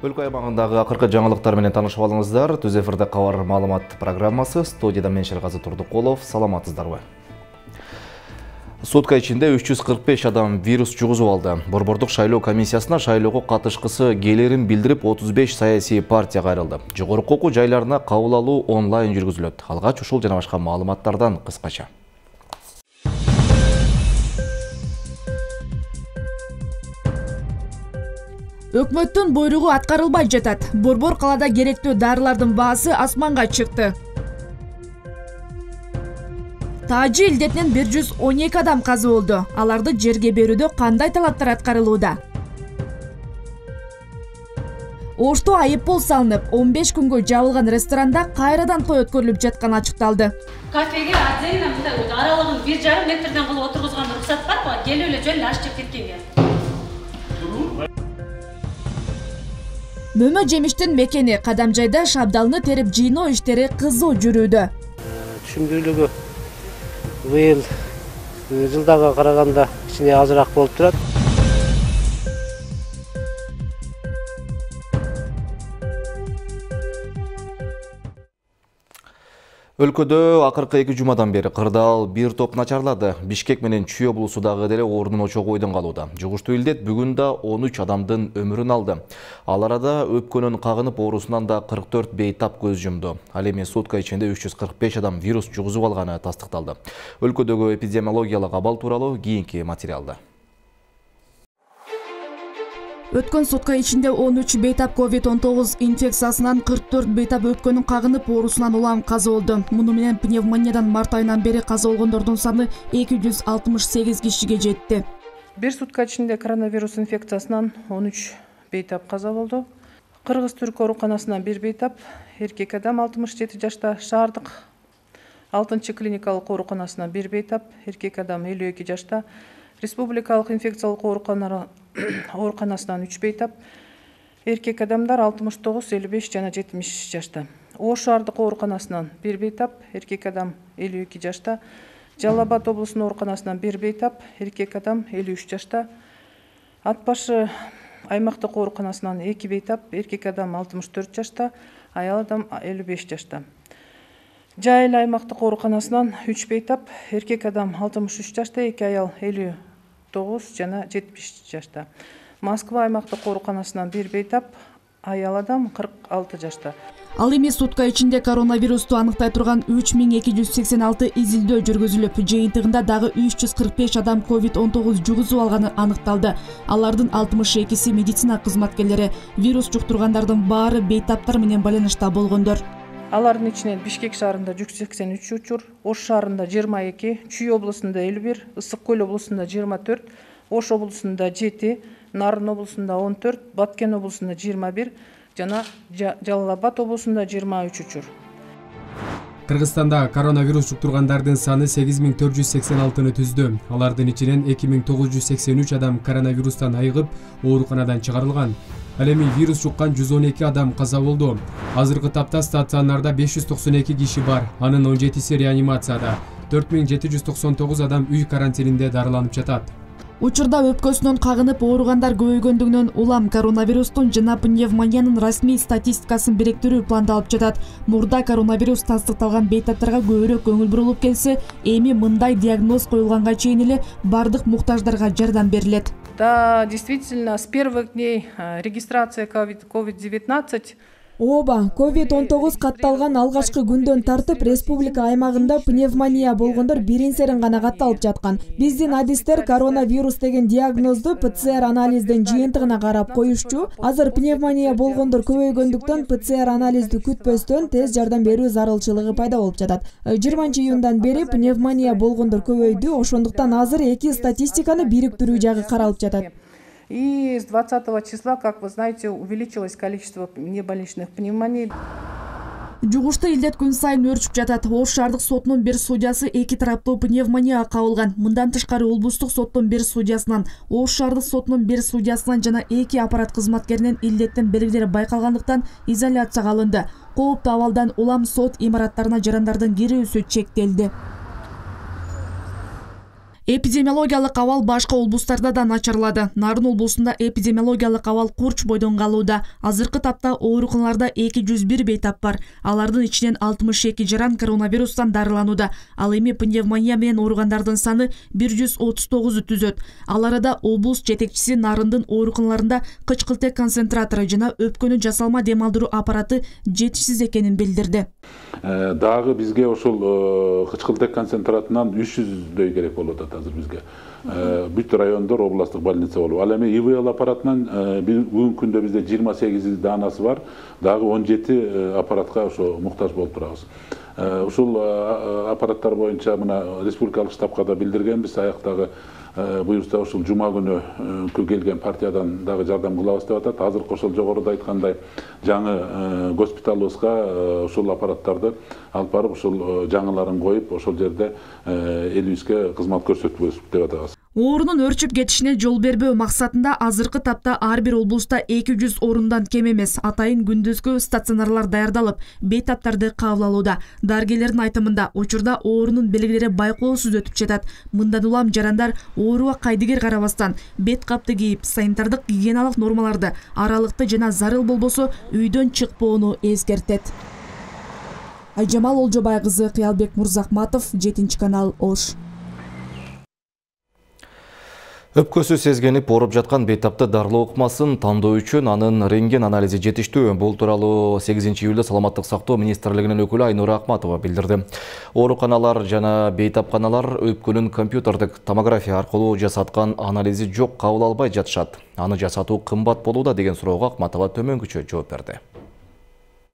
Өлкө аймагындагы акыркы жаңылыктар менен таанышып алыңыздар. Түз эфирде кабар маалымат программасы. Студияда мен Шергази Турдукулов. Саламатсыздарбы? Сутка ичинде 345 адам вирус жугузуп алды. Борбордук шайлоо комиссиясына шайлоого катышкысы келерин билдирип 35 саясий партия кайрылды. Жогорку окуу жайларына кабыл алуу онлайн жүргүзүлөт. Алгач ушул жана башка маалыматтардан кыскача. Өкмөттүн буйругу аткарылбай жатат. Борбор калада керектүү дарылардын баасы асманга чыкты. Тажы илдетинен 112 адам каза болду. Аларды жерге берүүдө кандай талаптар аткарылууда? Ошто айыппул салынып, 15 күнгө жабылган ресторанда кайрадан той өткөрүлүп жатканы ачыкталды. Кафеге отдельно мындай аралыгын 1,5 метрден кылып отургузган уруксат барбы? Келип эле жөн аш жеп кеткенге. Мөмө жемиштин мекени Кадамжайда шабдалны терип жыйноо иштери кызуу жүрүүдө. Түшүмдүүлүгү быйыл жылдага караганда кичине азыраак болуп турат. Өлкөдө акыркы 2 жумадан бери кырдаал бир топ начарлады. Бишкек менен Чүй облусундагы деле ордун очогу ойдон калууда. Жугуштуу илдет бүгүн да 13 адамдын өмүрүн алды. Ал арада өпкөнүн кагынып оорусунан да 44 бейтап көз жумду. Ал эми сутка ичинде 345 адам вирус жугузуп алганы тастыкталды. Өлкөдөгү эпидемиологиялык абал тууралуу кийинки материалда. Өткөн сутка ичинде 13 бейтап COVID-19 инфекциясынан 44 бейтап өпкөнүн кагынып оорусунан улам каза болду. Муну менен пневмониядан март айынан бери каза болгондордун саны 268 кишиге жетти. Бир сутка ичинде коронавирус инфекциясынан 13 бейтап каза болду. Кыргыз-Түрк ооруканасынан 1 бейтап, эркек адам 67 жашта, шаардык 6-чы клиникалык ооруканасынан 1 бейтап, эркек адам 52 жашта, республикалык инфекциялык ооруканасынан 3 бейтап, эркек адамдар 69, 55 жана 70 жашта. Ош шаардык ооруканасынан 1 бейтап, эркек адам 52 жашта, Жалал Абад облусунун ооруканасынан 1 бейтап, эркек адам 53 жашта, Ат башы аймактык ооруканасынан 2 бейтап, эркек адам 64 жашта, аял адам 55 жашта. Жайыл аймактык ооруканасынан 3 бейтап, эркек адам 63 жашта, 2 аял 59 жана 70 жашта. Москва аймактык ооруканасынан 1 бейтап, аял адам 46 жашта. Ал эми сутка ичинде коронавирусту аныктай турган 3286 изилдөө жүргүзүлүп, жыйынтыгында дагы 345 адам COVID-19 жугузуп алганы аныкталды. Алардын 62си медицина кызматкерлери. Вирус жуктургандардын баары бейтаптар менен байланышта болгондор. Алардын ичинен Бишкек шаарында 183 учур, Ош шаарында 22, Чүй облусунда 51, Ысык Көл облусунда 24, Ош облусунда 7, Нарын облусунда 14, Баткен облусунда 21 жана Жалал Абад облусунда 23 учур. Кыргызстанда коронавирус жуктургандардын саны 8486-ны түздү. Алардын ичинен 2983 адам коронавирустан айыгып, ооруканадан чыгарылган. Ал эми вирус жуккан 112 адам каза болду. Азыркы тапта стационарда 592 киши бар, анын 17си реанимацияда. 4799 адам үй карантининде дарыланып жатат. Учурда өпкөсүнөн кагынып ооругандар көбөйгөндүгүнөн улам коронавирустун жана пневмониянын расмий статистикасын бириктирүү пландалып жатат. Мурда коронавирус тастыкталган бейтаптарга көбүрөөк көңүл бурулуп келсе, эми мындай диагноз коюлганга чейин эле бардык муктаждарга жардам берилет. Да, действительно, с первых дней регистрация COVID-19 Ооба, COVID-19 катталган алгачкы күндөн тартып республика аймагында пневмония болгондор бирин-серин гана катталып жаткан. Биздин адистер коронавирус деген диагнозду ПЦР анализдин жыйынтыгына карап коюшчу. Азыр пневмония болгондор көбөйгөндүктөн ПЦР анализди күтпөстөн тез жардам берүү зарылчылыгы пайда болуп жатат. 20-июндан бери пневмония болгондор көбөйдү, ошондуктан азыр эки статистиканы бириктирүү жагы каралып жатат. И с 20 числа, как вы знаете, увеличилось количество небольничных пневмоний. Жугуштуу илдет күн сайын өрчүп жатат. Ош шаардык сотунун бир судьясы 2 тараптуу пневмонияга кабылган. Мындан тышкары облустук соттун бир судьясынан, Ош шаардык сотунун бир судьясынан жана 2 аппарат кызматкеринен илдеттин белгилери байкалгандыктан изоляцияга алынды. Кооптуу абалдан улам сот имараттарына жарандардын кирүүсү чектелди. Эпидемиологиялык абал башка облустарда да начарлады. Нарын облусунда эпидемиологиялык абал курч бойдон калууда. Азыркы тапта ооруканаларда 201 бейтап бар. Алардын ичинен 62 жаран коронавирустан дарыланууда. Ал эми пневмония менен ооругандардын саны 139 түзөт. Ал арада облус жетекчиси Нарындын ооруканаларында кычкылтек концентратору жана өпкөнү жасалма дем алдыруу аппараты жетишсиз экенин билдирди. Дагы бизге ошол кычкылтек концентратынан 300дөй керек болуп атат азыр бизге. Бүт райондор областтык больница болуп. Ал эми ИВЛ аппаратынан бүгүнкү күндө бизде 28 данасы бар. Дагы 17 аппаратка ошо муктаж болуп турабыз. Ушул аппараттар боюнча мына республикалык штабка да билдиргенбиз. Аяктагы буюрса ушул жума күнү келген партиядан дагы жардам кылабыз деп атат. Азыркы ошол жогоруда айткандай жаңы госпиталыбызга ушул аппараттарды алып барып, ушул жаңыларын коюп, ошол жерде элибизге кызмат көрсөтүбүз деп атабыз. Оорунун өрчүп кетишине жол бербөө максатында азыркы тапта ар бир облуста 200 орундан кем эмес атайын күндүзгү стационарлар даярдалып, бейтаптарды кабыл алууда. Дарыгерлердин айтымында учурда оорунун белгилери байкоосуз өтүп жатат. Мындан улам жарандар ооруга кайдыгер карабастан бет капты кийип, санитардык гигиеналык нормаларды аралыкты жана зарыл болбосо үйдөн чыкпоону эскертет. Айжамал Олжобай кызы, Кыялбек Мурзахматов, 7 канал, Ош. Өпкөсү сезгенип ооруп жаткан бейтапты дарылоо ыкмасын тандоо үчүн анын рентген анализи жетиштүү. Бул тууралуу 8-июлда Саламаттык сактоо министрлигинин өкүлү Айнура Акматова билдирди. Ооруканалар жана бейтапканалар өпкөнүн компьютердик томография аркылуу жасаткан анализи жок кабыл албай жатышат. Аны жасатуу кымбат болууда деген суроого Акматова төмөнгүчө жооп берди.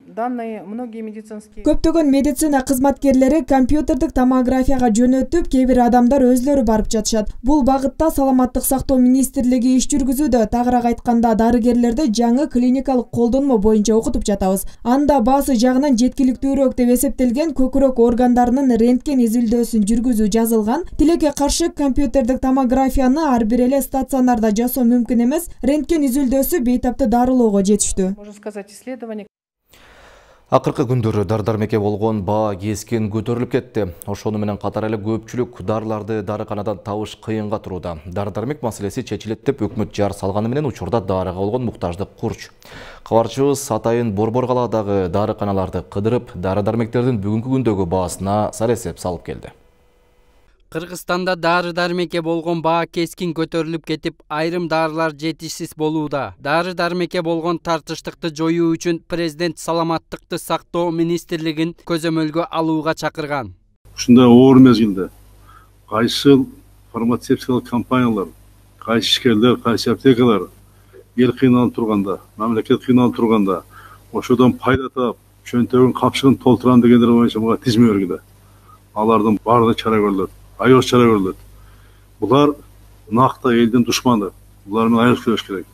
Көптөгөн медицина кызматкерлери компьютердик томографияга жөнөтүп, кээ бир адамдар өзлөрү барып жатышат. Бул багытта Саламаттык сактоо министрлиги иш жүргүзүүдө. Тагыраак айтканда, дарыгерлерди жаңы клиникалык колдонмо боюнча окутуп жатабыз. Анда баасы жагынан жеткиликтүүрөөк деп эсептелген көкүрөк органдарынын рентген изилдөөсүн жүргүзүү жазылган. Тилекке каршы компьютердик томографияны ар бир эле стационарда жасоо мүмкүн эмес. Рентген изилдөөсү бейтапты дарылоого жетиштүү. Акыркы күндөрү дар-дармеке болгон баа кескин көтөрүлүп кетти. Ошону менен катар эле көпчүлүк дарыларды дарыканадан табыш кыйынга турууда. Дар-дармек маселеси чечилет деп өкмөт жар салганы менен учурда дарыга болгон муктаждык курч. Кабарчыбыз атайын Борбор калаадагы дарыканаларды кыдырып, дары-дармектердин бүгүнкү күндөгү баасына саресеп салып келди. Кыргызстанда дары-дармекке болгон баа кескин көтөрүлүп кетип, айрым дарылар жетишсиз болууда. Дары-дармекке болгон тартыштыкты жоюу үчүн президент Саламаттыкты сактоо министрлигин көзөмөлгө алууга чакырган. Ушундай оор мезгилде кайсы фармацевтикалык компаниялар, кайсы ишкерлер, кайсы аптекалар эл кыйналып турганда, мамлекет кыйналып турганда, ошодон пайда таап, чөнтөгүн капчыгын толтурам дегендер боюнча мага тизме өргүдө. Алардын баардыгы чара көрүлөт. Айош чара көрүлөт. Булар накта элдин душманы. Булар менен айош күрөш керек.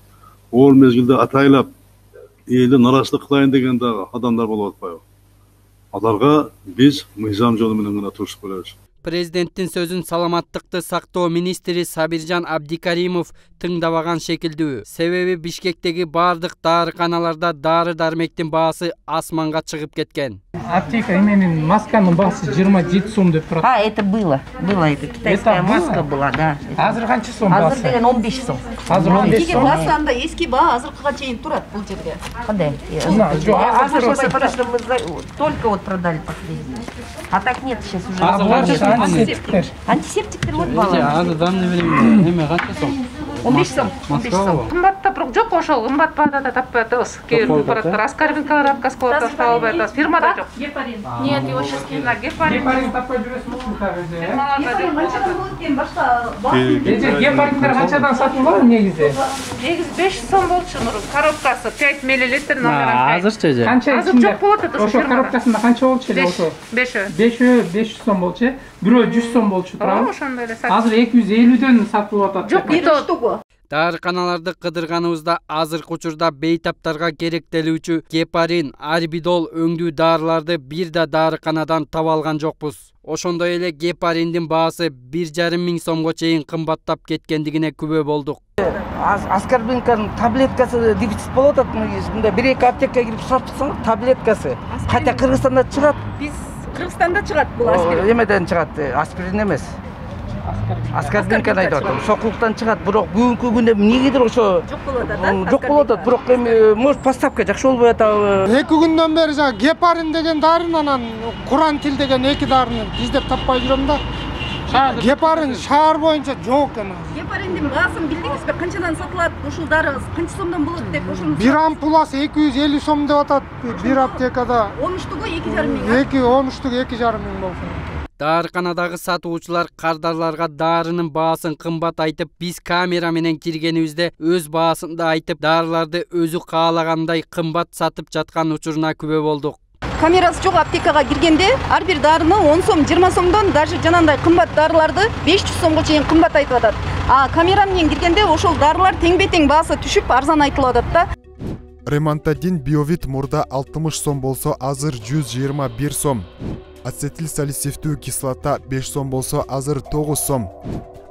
Оор мезгилде атайлап элди нараачылык кылайын деген дагы адамдар болуп атпайбы? Аларга биз мыйзам жолу менен гана турушуп келебиз. Президенттин сөзүн Саламаттыкты сактоо министри Сабиржан Абдикаримов тыңдабаган шекилдүү. Себеби Бишкектеги бардык дарыканаларда дары-дармектин баасы асманга чыгып кеткен. Аптека именин масканын баасы 27 сом деп турат. Это было это китайская маска была, да. Азыр канча сом баасы? Азыр деген 15 сом. Азыр 15 сом. Баасы анда эски баа азыркыга чейин турат бул жерде. Кандай? Только вот продали последний. А так нет сейчас уже. Антисептиктер вот бала. Азыр данный время эме канча сом? 15 сом. 15 сом. Кымбатта бирок жок, ошол кымбат баада таппай атабыз. Кээ бир препараттар аскарбинкалар аткасы кылып атабыз, табылбай атабыз. Фирмада жок. Гепарин. Нет, его сейчас на гепарин. Гепарин таппай жүрөсүңүзбү табызы? Гепариндер канчадан сатылат негизи? Негизи 5 сом болчу, коробкасы 5 мл. Азырчы же? Азыр жок болот атат ошо коробкасында канча болчу эле ошо? 500 сом болчу. Бирөө 100 сом болчу туурабы? Ошондой эле. Азыр 250-дөн сатылып атат. Жок, бир штука. Дарыканаларды кыдырганыбызда азыркы учурда бейтаптарга керектелүүчү гепарин, арбидол өңдүү дарыларды бир да дарыканадан таба алган жокпуз. Ошондой эле гепариндин баасы 1,5 миң сомго чейин кымбаттап кеткендигине күбө болдук. Аскарбинканын таблеткасы дефицит болуп атат. Мындай 1-2 аптекага кирип сурап чыксаңыз, таблеткасы. Хотя Кыргызстанда чыгат. Биз Кыргызстанда чыгат бул аспирин. Эмеден чыгат, аспирин эмес. Аскарбинканы айтып атам. Сокулуктан чыгат, бирок бүгүнкү күндө эмнегедир ошо жок болуп атат. Жок болуп атат, бирок эми может поставка жакшы болбой атабы. 2 күндөн бери жана гепарин деген дарын, анан курантил деген 2 дарыны издеп таппай жүрөм да. Гепарин шаар боюнча жок экен. Гепариндин баасын билдиңизби? Канчадан сатылат? Ушул дары канча сомдон болот деп ошону. Бир ампуласы 250 сом деп атат бир аптекада. 13-тугу 2,5 миң. 13-тугу 2,5 миң болсун. Дарыканадагы сатуучулар кардарларга дарынын баасын кымбат айтып, биз камера менен киргенибизде өз баасын да айтып, дарыларды өзү каалагандай кымбат сатып жаткан учуруна күбө болдук. Камерасы жок аптекага киргенде ар бир дарыны 10 сом, 20 сомдон даже жанандай кымбат дарыларды 500 сомго чейин кымбат айтып атат. А камера менен киргенде ошол дарылар тең-бетең баасы түшүп арзан айтылып атат да. Ремонтадин биовит мурда 60 сом болсо, азыр 121 сом. Ацетил салицилдүү кислота 5 сом болсо, азыр 9 сом.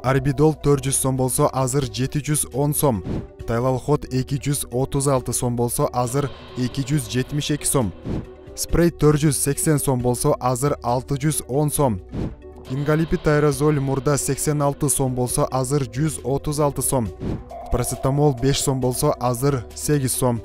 Арбидол 400 сом болсо, азыр 710 сом. Тайлалхот 236 сом болсо, азыр 272 сом. Спрей 480 сом болсо, азыр 610 сом. Ингалипид аэрозоль мурда 86 сом болсо, азыр 136 сом. Парацетамол 5 сом болсо, азыр 8 сом.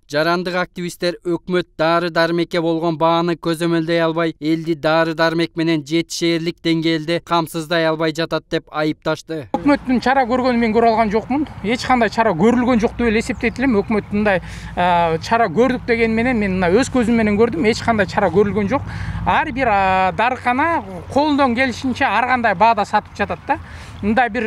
Жарандык активисттер өкмөт дары-дармекке болгон бааны көзөмөлдөй албай, элди дары-дармек менен жетишээрлик деңгээлде камсыздай албай жатат деп айыпташты. Өкмөттүн чара көргөнүн мен көрө алган жокмун. Эч кандай чара көрүлгөн жок деп эле эсептейт элем. Өкмөт мындай чара көрдүк деген менен мен мына өз көзүм менен көрдүм. Эч кандай чара көрүлгөн жок. Ар бир дарыкана колунан келишинче ар кандай баада сатып жатат да. Мындай бир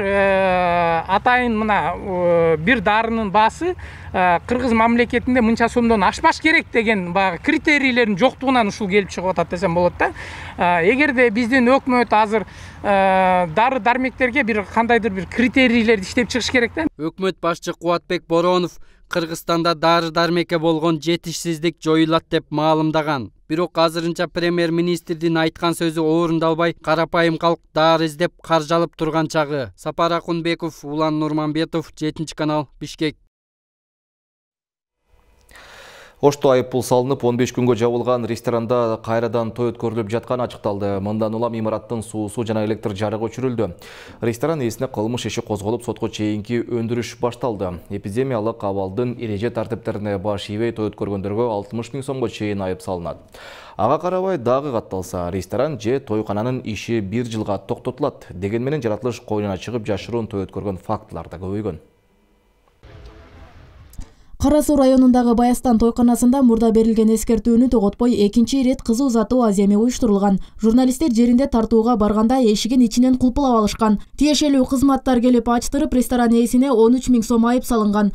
атайын мына бир дарынын баасы Кыргыз мамлекетинде мынча сомдон ашпаш керек деген баягы критерийлердин жоктугунан ушул келип чыгып атат десем болот да. Эгерде биздин өкмөт азыр дары-дармектерге бир кандайдыр бир критерийлерди иштеп чыгыш керек да. Өкмөт башчы Кубатбек Боронов Кыргызстанда дары-дармекке болгон жетишсиздик жоюлат деп маалымдаган. Бирок азырынча премьер-министрдин айткан сөзү орундалбай, карапайым калк дары издеп каржалып турган чагы. Сапар Акунбеков, Улан Нурманбетов, 7-канал, Бишкек. Ошто айыппул салынып, 15 күнгө жабылган ресторанда кайрадан той өткөрүлүп жатканы ачыкталды. Мындан улам имараттын суусу жана электр жарыгы өчүрүлдү. Ресторан ээсине кылмыш иши козголуп, сотко чейинки өндүрүш башталды. Эпидемиялык абалдын эреже тартиптерине баш ийбей той өткөргөндөргө 60 миң сомго чейин айып салынат. Ага карабай дагы катталса, ресторан же тойкананын иши 1 жылга токтотулат. Деген менен жаратылыш койнуна чыгып жашыруун той өткөргөн фактылар да көбөйгөн. Кара Суу районундагы Баястан тойканасында мурда берилген эскертүүнү тоготпой экинчи ирет кыз узатуу аземи уюштурулган. Журналисттер жеринде тартууга барганда эшигин ичинен кулпулап алышкан. Тиешелүү кызматтар келип ачтырып, ресторан ээсине 13 миң сом айып салынган.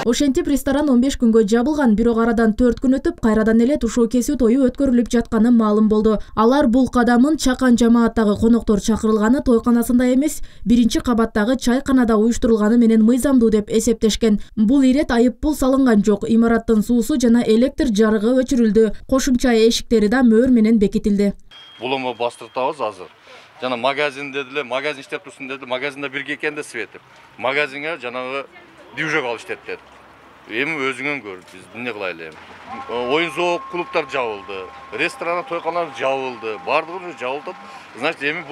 Ошентип ресторан 15 күнгө жабылган, бирок арадан 4 күн өтүп, кайрадан эле тушоо кесүү тою өткөрүлүп жатканы маалым болду. Алар бул кадамын чакан жамааттагы коноктор чакырылганы тойканасында эмес, 1-кабаттагы чайканада уюштурулганы менен мыйзамдуу деп эсептешкен. Бул ирет айыппул салынган жок. Имараттын суусу жана электр жарыгы өчүрүлдү. Кошумча эшиктери да мөөр менен бекитилди. Булуму бастыртабыз азыр. Жана магазинде деле, магазин иштеп турсун деди, магазинде бирге экен да светип. Магазинге жанагы движок алып иштетет. Эми өзүңөн көр, биз эмне кылайлы эми. Оюн зоок клубтар жабылды, ресторан, тойканалар жабылды, бардыгы жабылды. Значит, эми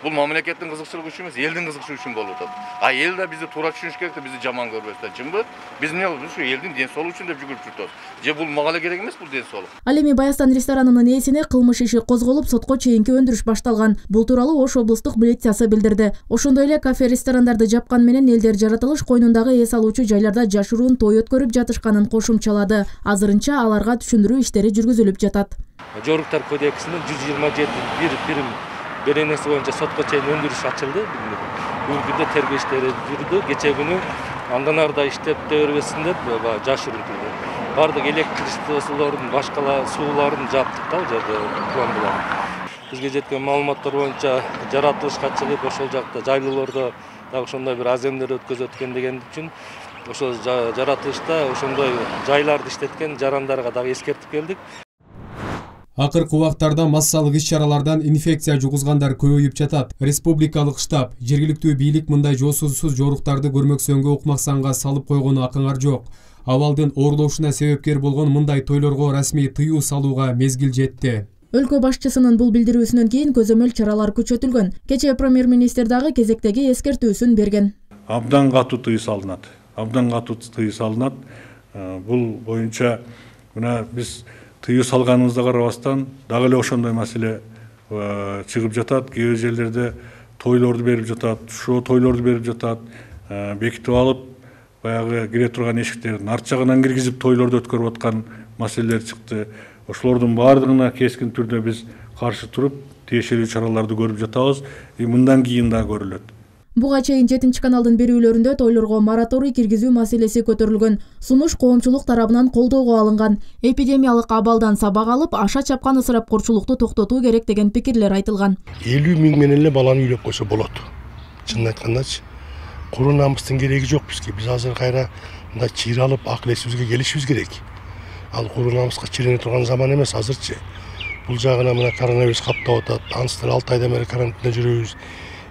бул мамлекеттин кызыкчылыгы үчүн эмес, элдин кызыкчылыгы үчүн болуп атат. А эл да бизди туура түшүнүш керек да, бизди жаман көрбөстөн. Чынбы? Биз эмне кылабыз? Ушу элдин ден соолугу үчүн деп жүгүрүп жүрөбүз. Же бул мага эле керек эмес бул ден соолук. Ал эми Баястан ресторанынын ээсине кылмыш иши козголуп, сотко чейинки өндүрүш башталган. Бул тууралуу Ош облустук милициясы билдирди. Ошондой эле кафе-ресторандарды жапкан менен элдер жаратылыш койнундагы эс алуучу жайларда жашыруун той өткөрүп жатышканын кошумчалады. Азырынча аларга түшүндүрүү иштери жүргүзүлүп жатат. Жоруктар кодексинин 127 беренеси боюнча сотко чейин өндүрүш ачылды. Бүгүнкү күндө тергөө иштери жүрдү. Кече күнү андан арда иштеп бербесин деп жашырылды. Бардык электричестволордун, башкала сууларын жаптык да, жерде пломбалар. Бизге жеткен маалыматтар боюнча жаратылышка чыгып, ошол жакта жайлуулордо дагы ошондой бир аземдер өткөзөт экен деген үчүн ошол жаратылышта ошондой жайларды иштеткен жарандарга дагы эскертип келдик. Акыркы убактарда массалык иш-чаралардан инфекция жугузгандар көбөйүп жатат. Республикалык штаб, жергиликтүү бийлик мындай жоосузсуз жоруктарды көрмөксөнгө укмаксанга салып койгону акыңар жок. Абалдын оорлошуна себепкер болгон мындай тойлорго расмий тыюу салууга мезгил жетти. Өлкө башчысынын бул билдирүүсүнөн кийин көзөмөл чаралар күчөтүлгөн. Кечээ премьер-министр дагы кезектеги эскертүүсүн берген. Абдан катуу тыюу салынат. Бул боюнча мына биз тыюу салганыбызга карабастан дагы эле ошондой маселе чыгып жатат. Кээ бир жерлерде тойлорду берип жатат, шоо тойлорду берип жатат. Бекитип алып, баягы кире турган эшиктердин арт жагынан киргизип тойлорду өткөрүп аткан маселелер чыкты. Ошолордун баардыгына кескин түрдө биз каршы туруп, тиешелүү чараларды көрүп жатабыз. Мындан кийин да көрүлөт. Буга чейин 7 каналдын берүүлөрүндө тойлорго мораторий киргизүү маселеси көтөрүлгөн. Сунуш коомчулук тарабынан колдоого алынган. Эпидемиялык абалдан сабак алып, аша чапкан ысырапкорчулукту токтотуу керек деген пикирлер айтылган. 50 миң менен эле баланы үйлөп койсо болот. Чынын айткандачы, куру намыстын кереги жок бизге. Биз азыр кайра мындай чыйралып, акыл эсибизге келишибиз керек. Ал куру намыска чирене турган заман эмес азырчы. Бул жагына мына коронавирус каптап атат. Аныстыр 6 айдан бери карантинде жүрөбүз.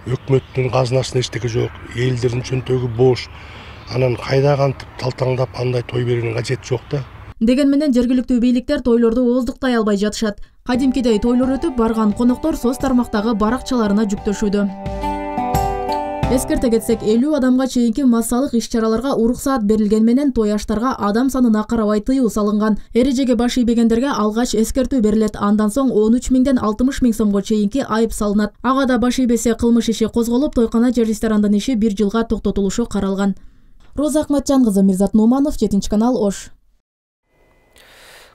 Өкмөттүн казынасында эчтеке жок, элдердин чөнтөгү бош. Анан кайда кантип талтаңдап андай той берүүнүн кажети жок да. Деген менен жергиликтүү бийликтер тойлорду ооздуктай албай жатышат. Кадимкидей тойлор өтүп барган коноктор соц тармактагы баракчаларына жүктөшүүдө. Эскерте кетсек, 50 адамга чейинки массалык иш-чараларга уруксаат берилген менен той аштарга адам санына карабай тыюу салынган. Эрежеге баш ийбегендерге алгач эскертүү берилет. Андан соң 13 миңден 60 миң сомго чейинки айып салынат. Ага да баш ийбесе кылмыш иши козголуп, тойкана же ресторандын иши 1 жылга токтотулушу каралган. Роза Акматжан кызы, Мирзат Нуманов, 7 канал, Ош.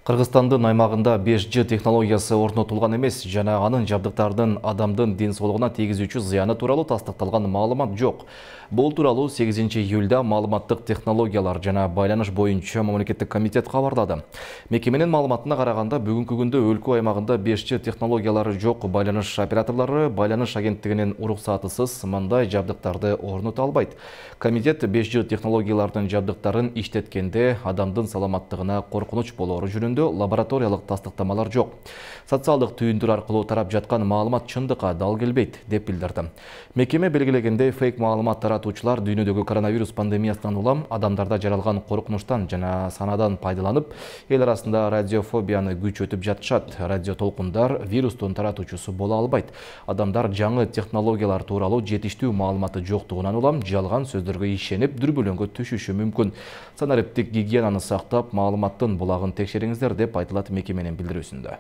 Кыргызстандын аймагында 5G технологиясы орнотулган эмес, жана анын жабдыктардын адамдын ден соолугуна тийгизүүчү зыяны тууралуу тастыкталган маалымат жок. Бул тууралуу 8 июлда маалыматтык технологиялар жана байланыш боюнча мамлекеттик комитет кабарлады. Мекеменин маалыматына караганда, бүгүнкү күндө өлкө аймагында 5G технологиялары жок. Байланыш операторлору байланыш агенттигинин уруксатысыз мындай жабдыктарды орното албайт. Комитет 5G технологиялардын жабдыктарын иштеткенде адамдын саламаттыгына коркунуч болору жөнүндө лабораториялык тастыктамалар жок. Социалдык түйүндүр аркылуу тарап жаткан маалымат чындыкка дал келбейт, деп билдирди. Мекеме белгилегенде фейк маалымат таратуучулар дүйнөдөгү коронавирус пандемиясынан улам адамдарда жаралган коркунучтан жана санадан пайдаланып, эл арасында радиофобияны күчөтүп жатышат. Радио толкундар вирустун таратуучусу боло албайт. Адамдар жаңы технологиялар тууралуу жетиштүү маалыматы жоктугунан улам жалган сөздөргө ишенип, дүрбөлөңгө түшүшү мүмкүн. Санариптик гигиенаны сактап, маалыматтын булагын текшериңиздер, деп айтылат мекеменин билдирүүсүндө.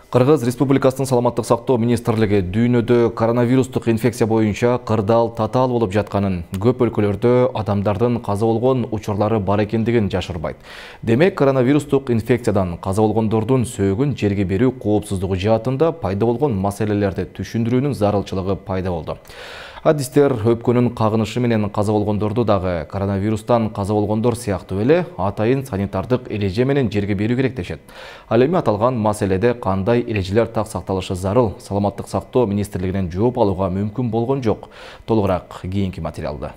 Кыргыз Республикасынын саламаттык сактоо министрлиги дүйнөдө коронавирустук инфекция боюнча кырдаал татаал болуп жатканын, көп өлкөлөрдө адамдардын каза болгон учурлары бар экендигин жашырбайт. Демек, коронавирустук инфекциядан каза болгондордун сөөгүн жерге берүү коопсуздугу жаатында пайда болгон маселелерди түшүндүрүүнүн зарылчылыгы пайда болду. Адистер өпкөнүн кагынышы менен каза болгондорду дагы коронавирустан каза болгондор сыяктуу эле атайын санитардык эреже менен жерге берүү керек дешет. Ал эми аталган маселеде кандай эрежелер так сакталышы зарыл? Саламаттык сактоо министрлигинен жооп алууга мүмкүн болгон жок. Толугураак кийинки материалда.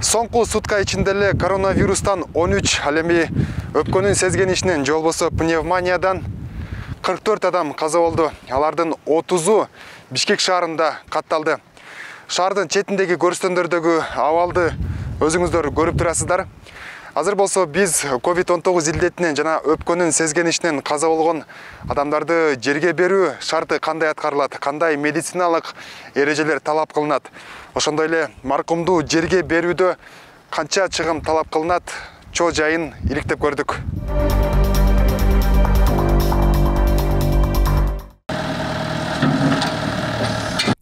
Соңку сутка ичинде эле коронавирустан 13, ал эми өпкөнүн сезгенишинен же болбосо пневмониядан 44 адам каза болду. Алардын 30-у Бишкек шаарында катталды. Шаардын четиндеги көрүстөндөрдөгү абалды өзүңүздөр көрүп турасыздар. Азыр болсо биз COVID-19 илдетинен жана өпкөнүн сезгенишинен каза болгон адамдарды жерге берүү шарты кандай аткарылат, кандай медициналык эрежелер талап кылынат, ошондой эле маркумду жерге берүүдө канча чыгым талап кылынат, чоо жайын иликтеп көрдүк.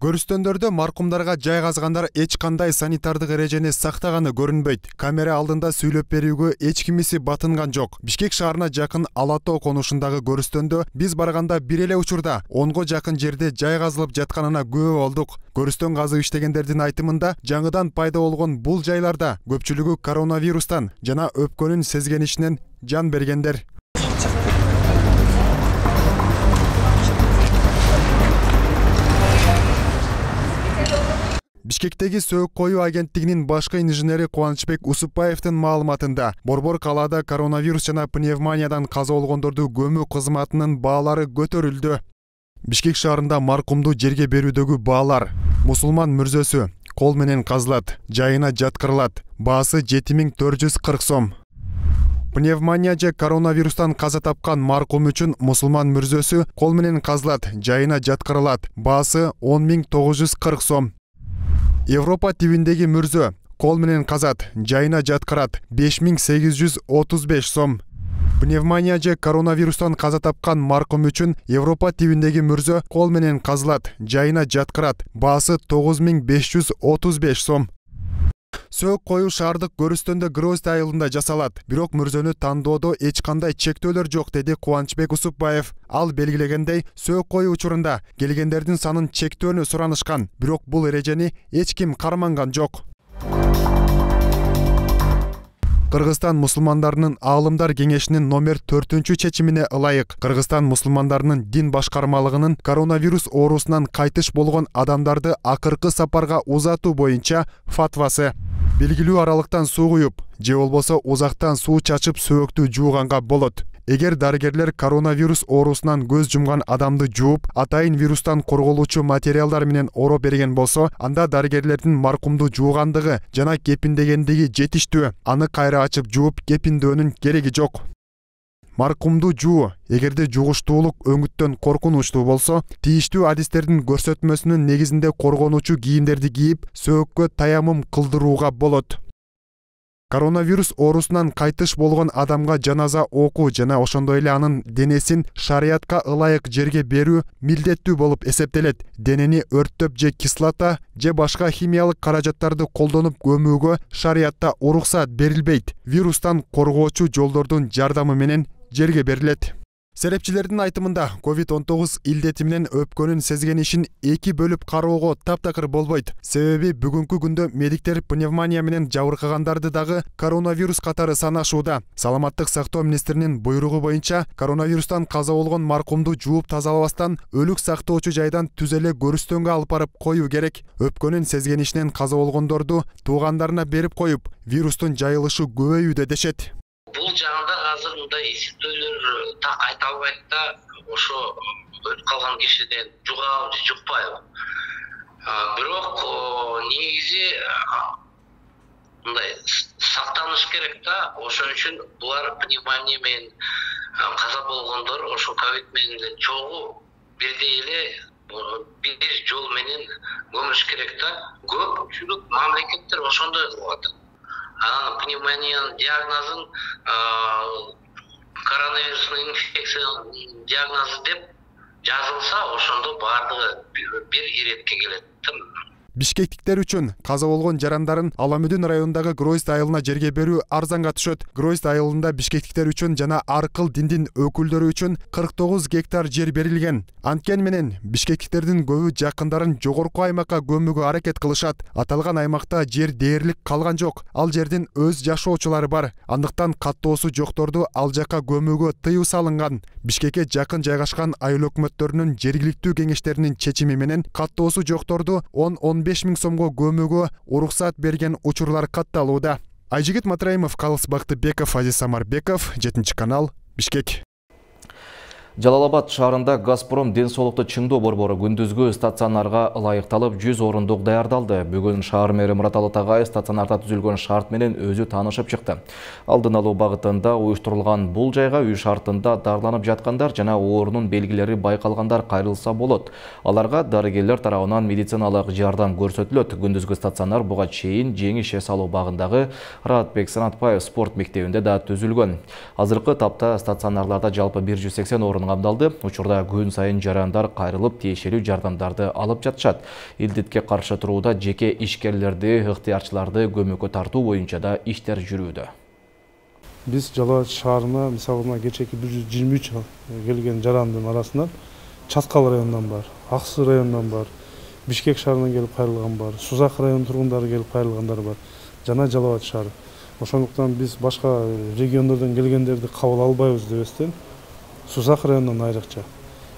Көрүстөндөрдө маркумдарга жайгазгандар эч кандай санитардык эрежени сактаганы көрүнбөйт. Камера алдында сүйлөп берүүгө эч кимиси батынган жок. Бишкек шаарына жакын Алатоо конушундагы көрүстөндө биз барганда бир эле учурда 10го жакын жерде жайгазылып жатканына күбө болдук. Көрүстөн казып иштегендердин айтымында, жаңыдан пайда болгон бул жайларда көпчүлүгү коронавирустан жана өпкөнүн сезгенишинен жан бергендер. Бишкектеги Сөөк коюу агенттигинин башкы инженери Кубанычбек Усупбаевдин маалыматында Борбор калаада коронавирус жана пневмониядан каза болгондорду көмүү кызматынын баалары көтөрүлдү. Бишкек шаарында маркумду жерге берүүдөгү баалар: мусулман мүрзөсү кол менен казылат, жайына жаткырылат, баасы 7440 сом. Пневмония же коронавирустан каза тапкан маркум үчүн мусулман мүрзөсү кол менен казылат, жайына жаткырылат, баасы 10940 сом. Европа тибиндеги мүрзө кол менен казат, жайына жаткырат, 5835 сом. Пневмония же коронавирустан каза тапкан маркум үчүн Европа тибиндеги мүрзө кол менен казылат, жайына жаткырат, баасы 9535 сом. Сөөк коюу шаардык көрүстөндө Грозд айылында жасалат, бирок мүрзөнү тандоодо эч кандай чектөөлөр жок, деди Кубанычбек Усупбаев. Ал белгилегендей, сөөк коюу учурунда келгендердин санын чектөөнү суранышкан, бирок бул эрежени эч ким карманган жок. Кыргызстан мусулмандарынын Аалымдар кеңешинин номер 4 чечимине ылайык Кыргызстан мусулмандарынын дин башкармалыгынын коронавирус оорусунан кайтыш болгон адамдарды акыркы сапарга узатуу боюнча фатвасы. Белгилүү аралыктан суу куюп же болбосо узактан суу чачып сөөктү жууганга болот. Эгер дарыгерлер коронавирус оорусунан көз жумган адамды жууп, атайын вирустан корголуучу материалдар менен ороп берген болсо, анда дарыгерлердин маркумду жуугандыгы жана кепиндегендиги жетиштүү. Аны кайра ачып жууп кепиндөөнүн кереги жок. Маркумду жуу, эгерде жугуштуулук өңүттөн коркунучтуу болсо, тийиштүү адистердин көрсөтмөсүнүн негизинде коргонуучу кийимдерди кийип, сөөккө таямым кылдырууга болот. Коронавирус оорусунан кайтыш болгон адамга жаназа окуу жана ошондой эле анын денесин шариятка ылайык жерге берүү милдеттүү болуп эсептелет. Денени өрттөп же кислота же башка химиялык каражаттарды колдонуп көмүүгө шариятта уруксат берилбейт. Вирустан коргоочу жолдордун жардамы менен жерге берилет. Серепчилердин айтымында COVID-19 илдети менен өпкөнүн сезген ишин эки бөлүп кароого таптакыр болбойт. Себеби бүгүнкү күндө медиктер пневмония менен жабыркагандарды дагы коронавирус катары санашууда. Саламаттык сактоо министринин буйругу боюнча коронавирустан каза болгон маркумду жууп тазалабастан өлүк сактоочу жайдан түз эле көрүстөнгө алып барып коюу керек. Өпкөнүн сезген ишинен каза болгондорду туугандарына берип коюп, вирустун жайылышы көбөйүүдө дешет. Бул жагында азыр мындай эсептөөлөр так айта албайт да, ошо өлүп калган кишиден жугабы же жукпайбы. Бирок негизи мындай сактаныш керек да, ошон үчүн булар пневмония менен каза болгондор ошо ковид менен чогуу бирдей эле бир жол менен көмүш керек да. Көпчүлүк мамлекеттер ошондой кылып атат. Пневмониянын диагнозун коронавирусный инфекциянын диагнозу деп жазылса, ошондо баардыгы бир иретке келет. Бишкектиктер үчүн каза болгон жарандарын Аламүдүн районундагы Грозд айылына жерге берүү арзанга түшөт. Грозд айылында бишкектиктер үчүн жана ар кыл диндин өкүлдөрү үчүн 49 гектар жер берилген. Анткени менен бишкектиктердин көбү жакындарын жогорку аймакка көмүүгө аракет кылышат. Аталган аймакта жер дээрлик калган жок. Ал жердин өз жашоочулары бар. Андыктан каттоосу жокторду ал жакка көмүүгө тыюу салынган. Бишкекке жакын жайгашкан айыл өкмөттөрүнүн жергиликтүү кеңештеринин чечими менен каттоосу жокторду 10-15 миң сомго көмүүгө уруксат берген учурлар катталууда. Айжигит Матраимов, Калыс Бактыбеков, Азиз Самарбеков, 7 канал, Бишкек. Жалал-Абад шаарында Газпром ден соолукту чыңдоо борбору күндүзгү стационарга ылайыкталып 100 орундук даярдалды. Бүгүн шаар мэри Мурат Алатагай стационарда түзүлгөн шарт менен өзү таанышып чыкты. Алдын алуу багытында уюштурулган бул жайга үй шартында дарыланып жаткандар жана оорунун белгилери байкалгандар кайрылса болот. Аларга дарыгерлер тарабынан медициналык жардам көрсөтүлөт. Күндүзгү стационар буга чейин жеңиш эс алуу багындагы Радбек Санатбаев спорт мектебинде да түзүлгөн. Азыркы тапта стационарларда жалпы 180 орун камдалды. Учурда күн сайын жарандар кайрылып тиешелүү жардамдарды алып жатышат. Илдетке каршы турууда жеке ишкерлерди, ыктыярчыларды көмөккө тартуу боюнча да иштер жүрүүдө. Биз Жалал-Абад шаарына мисалына кечээки 123 келген жарандын арасынан Часкал районунан бар, Аксы районунан бар, Бишкек шаарынан келип кайрылган бар, Сузак районунун тургундары келип кайрылгандар бар, жана Жалал-Абад шаары. Ошондуктан биз башка региондордон келгендерди кабыл албайбыз дебестен Сузак районунан айрыкча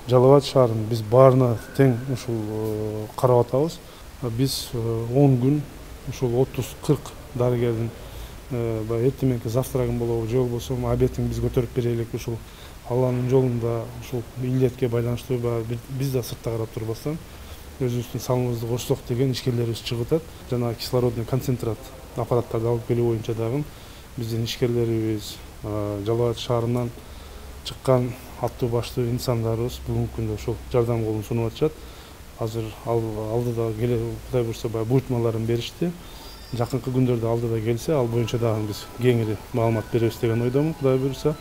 Жалал-Абад шаарын биз баарына тең ушул карап атабыз. Биз 10 күн ушул 30-40 дарыгердин эртең мененки завтрагын болобу же болбосо обедин биз көтөрүп берелик. Ушул Алланын жолунда ушул илдетке байланыштуу биз да сыртта карап турбастан өзүбүздүн салымыбызды кошсок деген ишкерлерибиз чыгып атат. Жана кислородный концентрат аппараттарды алып келүү боюнча дагы биздин ишкерлерибиз, Жалал Абад шаарынан чыккан аттуу баштуу инсандарыбыз бүгүнкү күндө ушул жардам колун сунуп атышат. Азыр алдыда Кудай буйрса буйртмаларын беришти. Жакынкы күндөрдө алдыда келсе, ал боюнча дагы биз кеңири маалымат беребиз деген ойдомун, Кудай буйрса.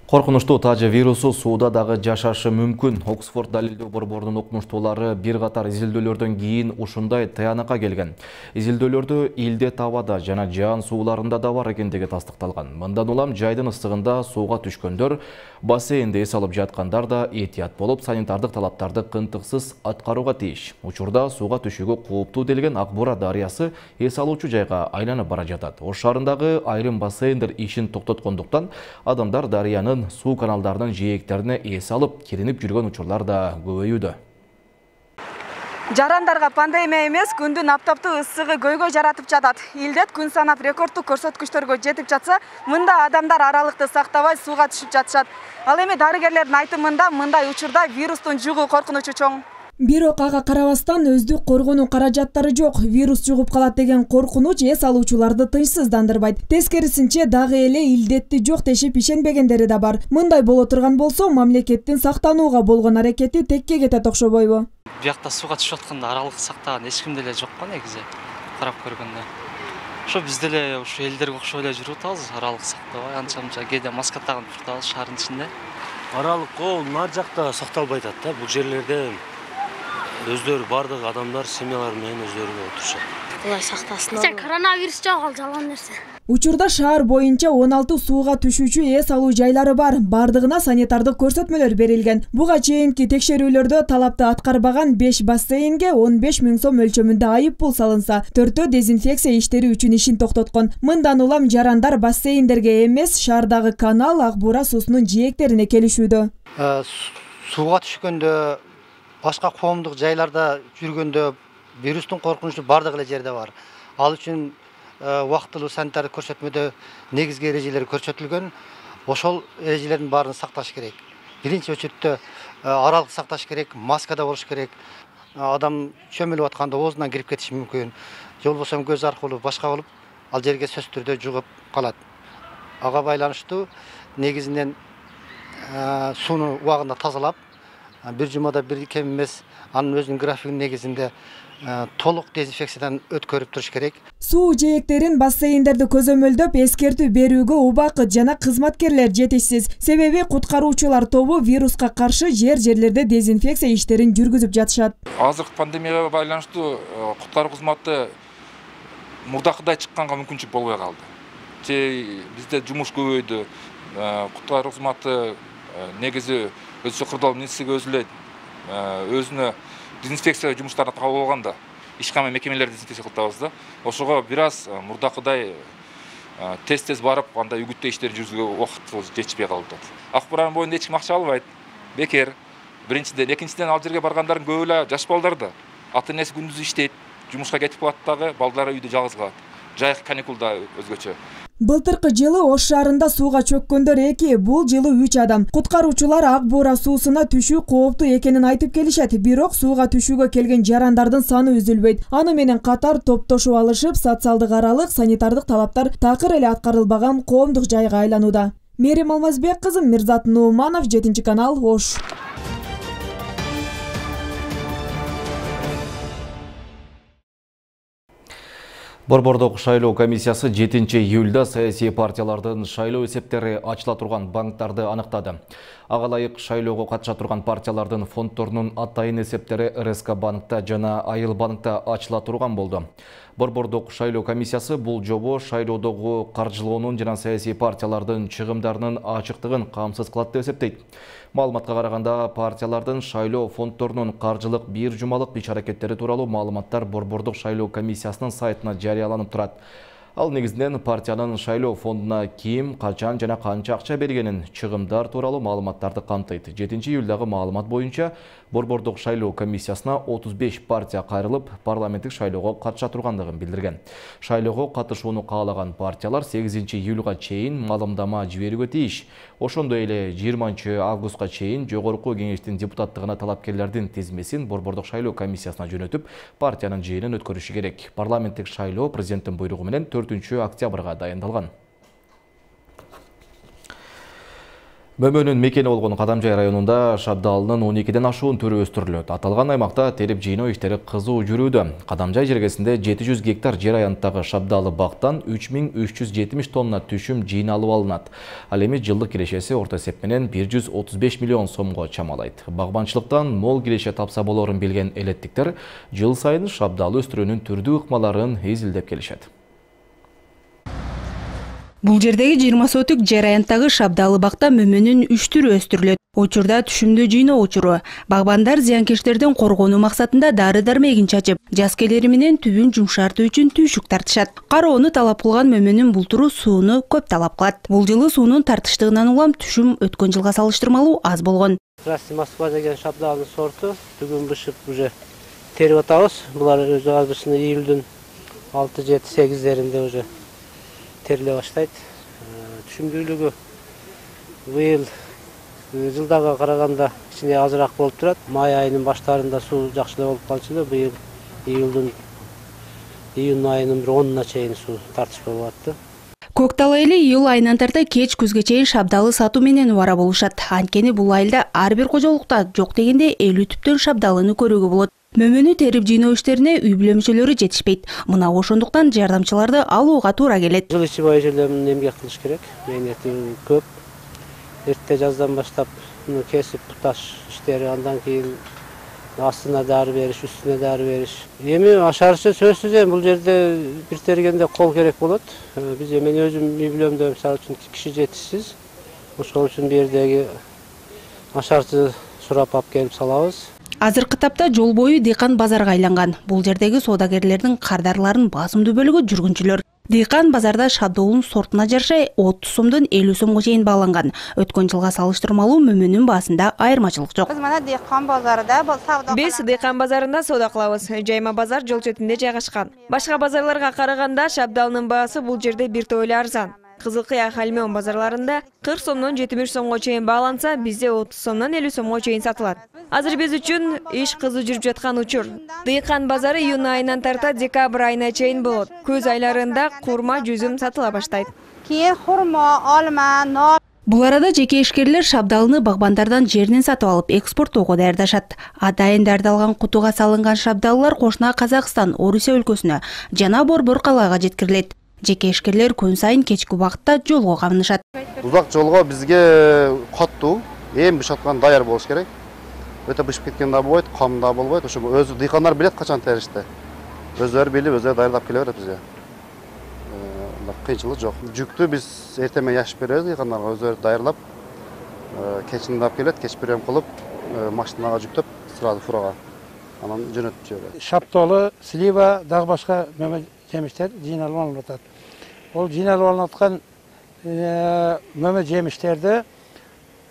Коркунучтуу тажы вирусу сууда дагы жашашы мүмкүн. Оксфорд далилдөө борборунун окумуштуулары бир катар изилдөөлөрдөн кийин ушундай тыянакка келген. Изилдөөлөрдө илдет абада жана жаан сууларында да бар экендиги тастыкталган. Мындан улам жайдын ыстыгында сууга түшкөндөр, бассейнде эс алып жаткандар да этият болуп, санитардык талаптарды кынтыксыз аткарууга тийиш. Учурда сууга түшүүгө кооптуу делген Ак Бура дарыясы эс алуучу жайга айланып бара жатат. Ош шаарындагы айрым бассейндер ишин токтоткондуктан адамдар дарыянын суу каналдарынын жээктерине эс алып, киринип жүргөн учурлар да көбөйүүдө. Жарандарга пандемия эмес, күндүн аптаптуу ысыгы көйгөй жаратып жатат. Илдет күн санап рекордтук көрсөткүчтөргө жетип жатса, мында адамдар аралыкты сактабай сууга түшүп жатышат. Ал эми дарыгерлердин айтымында мындай учурда вирустун жугуу коркунучу чоң. Бирок ага карабастан өздүк коргонуу каражаттары жок. Вирус жугуп калат деген коркунуч эс алуучуларды тынчсыздандырбайт. Тескерисинче дагы эле илдетти жок дешип ишенбегендери да бар. Мындай боло турган болсо, мамлекеттин сактанууга болгон аракети текке кетет окшобойбу? Биякта сууга түшүп атканда аралык сактаган эч ким деле жок го негизи. Карап көргөндө. Ошо биз деле ушу элдерге окшоп эле жүрүп атабыз, аралык сактабай, анча-мынча кээде маска тагып турабыз шаардын ичинде. Аралык нар жакта сакталбай атат да, бул жерлерде өздөрү бардык адамдар семьялары менен өздөрү отурушат. Кудай сактасын. Коронавирус жок, ал жалган нерсе. Учурда шаар боюнча 16 сууга түшүүчү эс алуу жайлары бар. Бардыгына санитардык көрсөтмөлөр берилген. Буга чейинки текшерүүлөрдө талапты аткарбаган 5 бассейнге 15 000 сом мөлчөмүндө айып пул салынса, 4 дезинфекция иштери үчүн ишин токтоткон. Мындан улам жарандар бассейндерге эмес, шаардагы канал, Ак Бура суусунун жээктерине келишүүдө. Сууга түшкөндө, башка коомдук жайларда жүргөндө вирустун коркунучу бардык эле жерде бар. Ал үчүн убактылуу санитардык көрсөтмөдө негизги эрежелер көрсөтүлгөн. Ошол эрежелердин баарын сакташ керек. Биринчи очередте аралык сакташ керек, маскада болуш керек. Адам чөмүлүп атканда оозунан кирип кетиши мүмкүн. Же болбосо көз аркылуу башка болуп, ал жерге сөзсүз түрдө жугуп калат. Ага байланыштуу негизинен сууну убагында тазалап, бир жумада бир кем эмес, анын өзүнүн графигинин негизинде толук дезинфекциядан өткөрүп туруш керек. Суу жээктерин, бассейндерди көзөмөлдөп, эскертүү берүүгө убакыт жана кызматкерлер жетишсиз. Себеби куткаруучулар тобу вируска каршы жерлерде дезинфекция иштерин жүргүзүп жатышат. Азыркы пандемияга байланыштуу куткаруу кызматы мурдакыдай чыкканга мүмкүнчүлүк болбой калды. Бизде жумуш көбөйдү. Куткаруу кызматы негизи өзү кырдаал министрлиги өзү эле өзүнө дезинфекция жумуштарын кабыл алганда ишкана мекемелерди дезинфекция кылып атабыз да. Ошого бир аз мурдакыдай тез барып, андай үгүттөө иштер жүргүзүүгө убакыт жетишпей калды. Ак Буранын боюнда эч ким акча албайт. Бекер. Биринчиден, экинчиден ал жерге баргандардын көбү эле жаш балдар да. Ата энеси күндүз иштейт, жумушка кетип калат дагы, балдары үйдө жалгыз калат. Жайкы каникулда өзгөчө. Былтыркы жылы Ош шаарында сууга чөккөндөр 2, бул жылы 3 адам. Куткаруучулар Ак Бура суусуна түшүү кооптуу экенин айтып келишет, бирок сууга түшүүгө келген жарандардын саны үзүлбөйт. Аны менен катар топтошуп алышып, социалдык аралык, санитардык талаптар такыр эле аткарылбаган коомдук жайга айланууда. Мерим Алмазбек кызы, Мирзат Нууманов, 7-канал, Ош. Борбордук шайлоо комиссиясы 7-июлда саясий партиялардын шайлоо эсептери ачыла турган банктарды аныктады. Ага ылайык шайлоого катыша турган партиялардын фонддорунун атайын эсептери РСК банкта жана Айыл банкта ачыла турган болду. Борбордук шайлоо комиссиясы бул жобо шайлоодогу каржылоонун жана саясий партиялардын чыгымдарынын ачыктыгын камсыз кылат деп эсептейт. Маалыматка караганда, партиялардын шайлоо фонддорунун каржылык бир жумалык иш-аракеттери тууралуу маалыматтар Борбордук шайлоо комиссиясынын сайтына жарыяланып турат. Ал негизинен партиянын шайлоо фондуна ким, качан жана канча акча бергенин, чыгымдар тууралуу маалыматтарды камтыйт. 7-июлдагы маалымат боюнча Борбордук шайлоо комиссиясына 35 партия кайрылып, парламенттик шайлоого катыша тургандыгын билдирген. Шайлоого катышууну каалаган партиялар 8-июлга чейин маалымдама жиберүүгө тийиш. Ошондой эле 20-августка чейин жогорку кеңештин депутаттыгына талапкерлердин тизмесин Борбордук шайлоо комиссиясына жөнөтүп, партиянын жыйынын өткөрүшү керек. Парламенттик шайлоо президенттин буйругу менен 4-октябрга дайындалган. Мөмөнүн мекени болгон Кадамжай районунда шабдалынын 12ден ашуун түрү өстүрүлөт. Аталган аймакта терип жыйноо иштери кызуу жүрүүдө. Кадамжай жергесинде 700 гектар жер аянттагы шабдалы бактан 3370 тонна түшүм жыйналып алынат. Ал эми жылдык кирешеси орто эсеп менен 135 миллион сомго чамалайт. Багбанчылыктан мол киреше тапса болорун билген элеттиктер жыл сайын шабдалы өстүрүүнүн түрдүү ыкмаларын изилдеп келишет. Бул жердеги 20 сотук жер аянттагы шабдалы бакта мөмөнүн 3 түрү өстүрүлөт. Учурда түшүмдүү жыйноо учуру. Багбандар зыянкечтерден коргонуу максатында дары-дармегин чачып, жаз келери менен түбүн жумшартуу үчүн түйшүк тартышат. Кароону талап кылган мөмөнүн бул туру сууну көп талап кылат. Бул жылы суунун тартыштыгынан улам түшүм өткөн жылга салыштырмалуу аз болгон. Красный Москва деген шабдалынын сорту түгүн бышып уже терип атабыз. Булар өзү азырчыны июлдун 6-7-8-деринде уже териле баштайт. Түшүмдүүлүгү быйыл жылдага караганда кичине азыраак болуп турат. Май айынын баштарында суу жакшылап болуп калчу эле. Быйыл июнь айынын 10-уна чейин суу тартыш болуп атты. Көктал эли июль айынан тарта кеч күзгө чейин шабдалы сатуу менен убара болушат. Анткени бул айылда ар бир кожолукта жок дегенде 50 түптөн шабдалыны көрүүгө болот. Мөмөнү терип жыйноо иштерине үй бүлө мүчөлөрү жетишпейт. Мына ошондуктан жардамчыларды алууга туура келет. Жыл ичи бой жерлерин эмгек кылыш керек. Мээнети көп. Эрте жаздан баштап кесип таш иштери, андан кийин астына дары бериш, үстүнө дары бериш. Эми ашарчы сөзсүз бул жерде бир тергенде кол керек болот. Биз мен өзүм үй бүлөмдө мисалы үчүн киши жетишсиз. Ошол үчүн бу жердеги ашарчы сурап алып келип салабыз. Азыркы тапта жол бою дыйкан базарга айланган. Бул жердеги соодагерлердин кардарларын басымдуу бөлүгү жүргүнчүлөр. Дыйкан базарда шабдоолун сортуна жараша 30 сомдон 50 сомго чейин бааланган. Өткөн жылга салыштырмалуу мөмөнүн баасында айырмачылык жок. Биз мына дыйкан базарында Биз дыйкан базарында соода кылабыз. Жайма базар жол четинде жайгашкан. Башка базарларга караганда шабдалынын баасы бул жерде бир топ эле арзан. Кызылкыя, Хальмеон базарларында 40 сомдон 70 сомго чейин бааланса, бизде 30 сомдон 50 сомго чейин сатылат. Азыр биз үчүн иш кызуу жүрүп жаткан учур. Дыйкан базары июнь айынан тарта декабрь айына чейин болот. Көз айларында курма, жүзүм сатыла баштайт. Кийин хурма, алма, нан. Бул арада жеке ишкерлер шабдалыны багбандардан жеринен сатып алып экспорттоого даярдашат. Атайын даярдалган кутуга салынган шабдалылар кошуна Казакстан, Орусия өлкөсүнө жана Борбор калаага жеткирилет. Жеке ишкерлер күн сайын кечки убакытта жолго камынышат. Узак жолго бизге коттуу, эми бышаткан даяр болуш керек. Өтө бышып кеткен да болбойт, кам да болбойт. Ошо өзү дыйкандар билет качан теришти. Өздөрү билип, өздөрү даярдап келе берет бизге. Кыйынчылык жок. Жүктү биз эртең менен яшып беребиз дыйкандарга, өздөрү даярлап, кечин алып келет, кеч прием кылып, машинага жүктөп, сразу фурага анан жөнөтүп жиберет. Шапталы, слива, дагы башка жемиштер жыйналып алынып атат. Ол жыйналып алынып аткан мөмө жемиштерди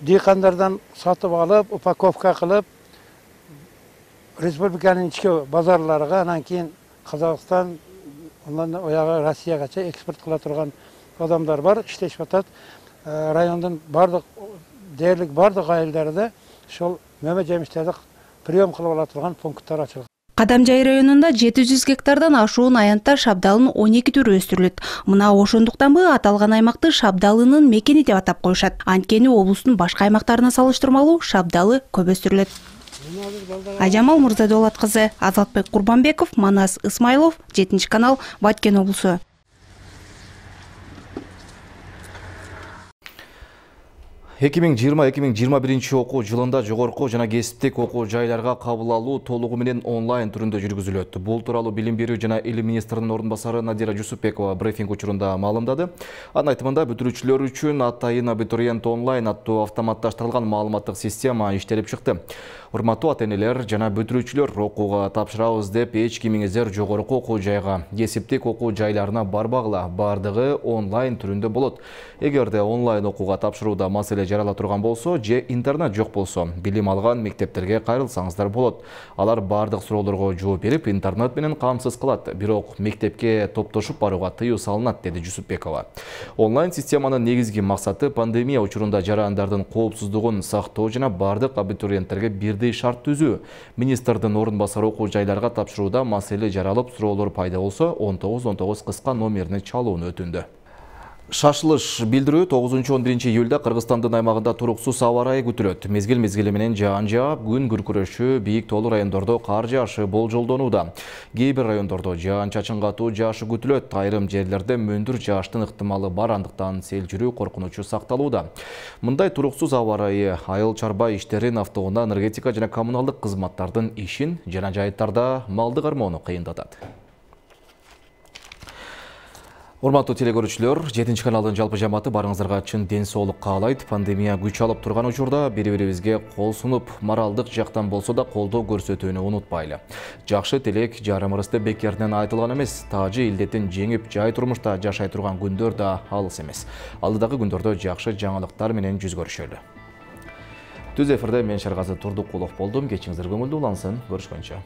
дыйкандардан сатып алып, упаковка кылып, республиканын ички базарларга, анан кийин Казакстан, андан оягы Россиягача экспорт кыла турган адамдар бар, иштешип атат. Райондун дээрлик бардык айылдарында ошол мөмө жемиштерди прием кылып ала турган пункттар ачылган. Кадамжай районунда 700 гектардан ашуун аянтта шабдалынын 12 түрү өстүрүлөт. Мына ошондуктанбы аталган аймакты шабдалынын мекени деп атап коюшат. Анткени облустун башка аймактарына салыштырмалуу шабдалы көп өстүрүлөт. Ажамал Мурзадолат кызы, Азатбек Курбанбеков, Манас Исмайлов, 7-канал, Баткен облусу. 2020-2021 окуу жылында жогорку жана кесиптик окуу жайларга кабыл алуу толугу менен онлайн түрүндө жүргүзүлөт. Бул тууралуу Билим берүү жана илим министринин орун басары Надира Жусупбекова брифинг учурунда маалымдады. Анын айтымында бүтүрүүчүлөр үчүн атайын абитуриент онлайн аттуу автоматташтырылган маалыматтык система иштелип чыкты. Урматтуу ата-энелер жана бүтүрүүчүлөр, окууга тапшырабыз деп эч кимиңиздер жогорку окуу жайга, кесиптик окуу жайларына барбагыла. Бардыгы онлайн түрүндө болот. Эгерде онлайн окууга тапшырууда маселе жарала турган болсо же интернет жок болсо, билим алган мектептерге кайрылсаңыздар болот. Алар бардык суроолорго жооп берип, интернет менен камсыз кылат. Бирок мектепке топтошуп барууга тыюу салынат, деди Жусупбекова. Онлайн системанын негизги максаты пандемия учурунда жарандардын коопсуздугун сактоо жана бардык абитуриенттерге бирдей шарт түзүү. Министрдин орун басары окуу жайларга тапшырууда маселе жаралып, суроолор пайда болсо 1919 кыска номерине чалууну өтүндү. Шашылыш билдирүү 9-11 июлда Кыргызстандын аймагында туруксуз аба ырайы күтүлөт. Мезгил-мезгили менен жаан жаап, күн күркүрөшү, бийик тоолуу райондордо кар жаашы болжолдонууда. Кээ бир райондордо жаан-чачын катуу жаашы күтүлөт. Айрым жерлерде мөндүр жааштын ыктымалы бар, андыктан сел жүрүү коркунучу сакталууда. Мындай туруксуз аба ырайы айыл чарба иштерин, автоунаа, энергетика жана коммуналдык кызматтардын ишин жана жайыттарда малды кармоону кыйындатат. Урматтуу телекөрүүчүлөр, 7 каналдын жалпы жамааты барыңыздарга чын ден соолук каалайт. Пандемия күч алып турган учурда бири-бирибизге кол сунуп, моралдык жактан болсо да колдоо көрсөтүүнү унутпайлы. Жакшы тилек жарымыбыз деп бекеринен айтылган эмес. Таажы илдетин жеңип, жай турмушта жашай турган күндөр да алыс эмес. Алдыдагы күндөрдө жакшы жаңылыктар менен жүз көрүшөлү. Түз эфирде мен Шаргазы Турдукулов болдум. Кечиңиздер көңүлдүү улансын. Көрүшкөнчө.